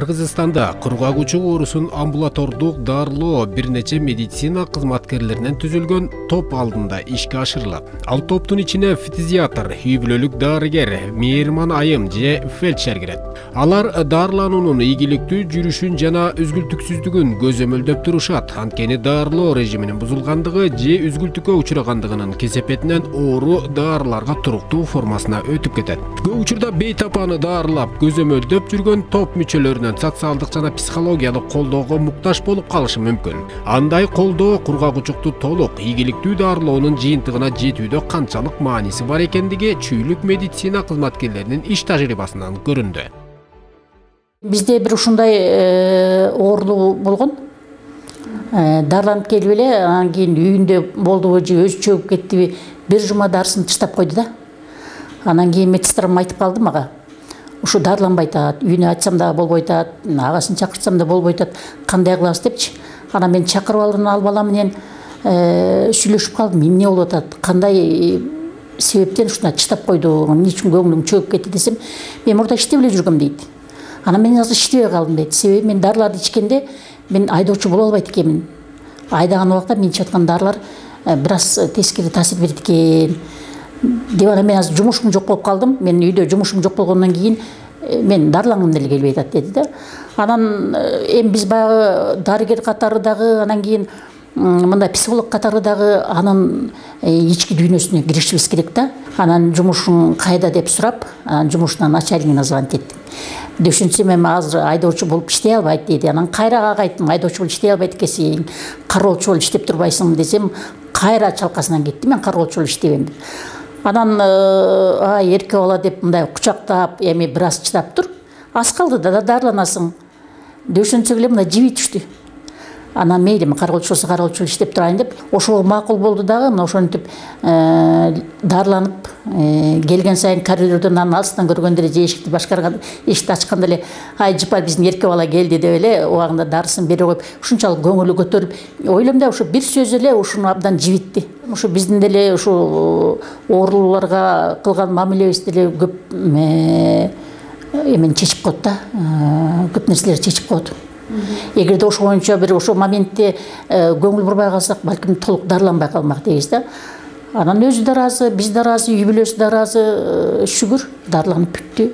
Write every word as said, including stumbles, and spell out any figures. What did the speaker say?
Кыргызстанда кургак учук оорусун амбулатордук дарылоо бир нече медицина кызматкерлеринен түзүлгөн топ алдында ишке ашырылат. Ал топтун ичине фтизиатр, үй бүлөлүк дарыгер, мейирман айым же фельдшер кирет. Алар дарылануунун ийгиликтүү жүрүшүн жана үзгүлтүксүздүгүн көзөмөлдөп турушат. Анткени дарылоо режиминин бузулгандыгы же үзгүлтүккө учурагандыгынын кесепетинен оору дарыларга туруктуу формасына өтүп кетет. Көп учурда бейтапаны дарылап көзөмөлдөп жүргөн топ мүчөлөрүнүн социалдык жана психологиялык колдоого муктаж болуп калышы мүмкүн. Андай колдоо кургак учукту толук ийгиликтүү дарылоонун жыйынтыгына жетүүдө канчалык мааниси бар экендиги чүйлүк медицина кызматкерлеринин иш тажрыйбасынан көрүндү. Бизде бир ушундай оорулуу болгон. Дарыланып келип эле, анан кийин үйүндө болдубу же өзү чөгүп кеттиби, бир жума дарысын таштап койду да. Анан кийин медсестрам айтып калды мага. Ушу дарыланбай атат, үйүнө айтсам да болбой атат, агасын чакыртсам да болбой атат. Кандай кылабыз депчи. Анан мен чакырып алып ал бала менен сүйлөшүп калдым. Эмне болуп атат? Кандай себептен ушуна таштап койду? Эмне үчүн көңүлүң чөгүп кетти десем, мен мурда иштеп эле жүргөм дейт. Анан мен азыр иштебей калдым дейт. Себеби мен дарыларды ичкенде мен айдоочу боло албайт экенмин. Айдаган убакта мен ичип аткан дарылар бир аз тескери таасир берет экен. Деп анан мен азыр жумушум жок болуп калдым. Мен үйдө жумушум жок болгондон кийин мен дарылангым деле келбей атат деди да. Анан эми биз баягы дарыгер катары дагы, анан кийин мындай психолог катары дагы анын ички дүйнөсүнө киришибиз керек да. Анан жумушуң кайда деп сурап, анан жумушунан начальнигине звонить эттим. Дөшүнсөм эми азыр айдоочу болуп иштей албайт деди. Анан кайра ага айттым, айдоочу болуп иштей албайт экенсиң, кароолчу болуп иштеп турбайсың десем, кайра чалкасынан кетти, мен кароолчу болуп иштебейм деп. Анан ай эрке бала деп мындай кучактап, эми бир аз чыдап тур. Аз калды да дарыланасың. Дөшөнсөк эле мындай жиби түштү. Анан мейли, мен кароолчу болсо кароолчу болуп иштеп турайын деп, ошого макул болду дагы. Мына ошентип дарыланып келген сайын коридордон анын алыстан көргөндө эле же эшикти башкарган, эшикти ачканда эле ай жыпар биздин эрке бала келди деп эле убагында дарысын бере коюп, ушунчалык көңүлү көтөрүп, ойлойм да ушу бир сөз эле ушуну абдан жибитти. Ушу биздин деле ушу оорулууларга кылган мамилебиз деле көп эмени чечип коет да, көп нерселерди чечип коет. Эгерде ошо боюнча бир ошо моментте көңүл бурбай калсак, балким толук дарыланбай калмак дейбиз да. Анан өзү да ыраазы, биз да ыраазы, үй бүлөсү да ыраазы, шүгүр дарыланып бүттү.